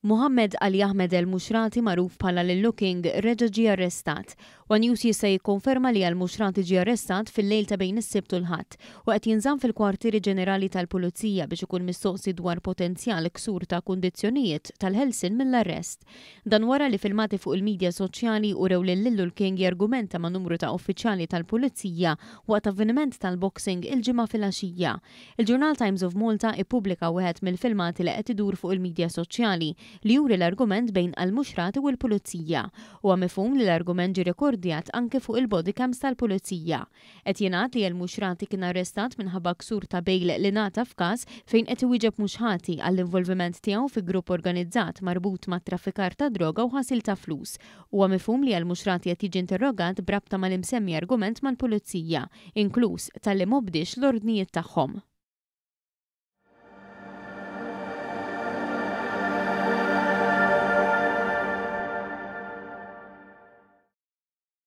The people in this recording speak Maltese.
Mohammed Ali Ahmed Elmushraty magħruf bħala Lillu King reġa' ġie arrestat. One News jista' jikkonferma li Elmushraty ġie arrestat fil-lejl ta' bejn is-Sibt u l-Ħadd u qed jinżamm fil-Kwartieri Ġenerali tal-Pulizija biex ikun mistoqsi dwar potenzjal ksur ta' kundizzjonijiet tal-ħelsien mill-arrest. Dan wara li filmati fuq il-midja soċjali urew lil Lillu l-King jargumenta ma' numru ta' uffiċjali tal-Pulizija waqt avveniment tal-boxing il-Ġimgħa filgħaxija. Il-ġurnal Times of Malta ippubblika wieħed mill-filmati li qed idur fuq il-midja soċjali li juri l-argument bejn Almushraty u l-Pulizija. Huwa mifhum li l-argument ġie rekordjat anke fuq il-bodycams tal-Pulizija. Qed jingħad li Elmushraty kien arrestat minħabba ksur ta' bail li ngħata f'każ fejn qed iwieġeb mhux ħati għall-involviment tiegħu fi grupp organizzat marbut mat-traffikar ta' droga u ħasil ta' flus. Huwa mifhum li Elmushraty qed jiġi interrogat b'rabta mal-imsemmi argument mal-Pulizija, inkluż talli m'obdiex l-ordnijiet tagħhom.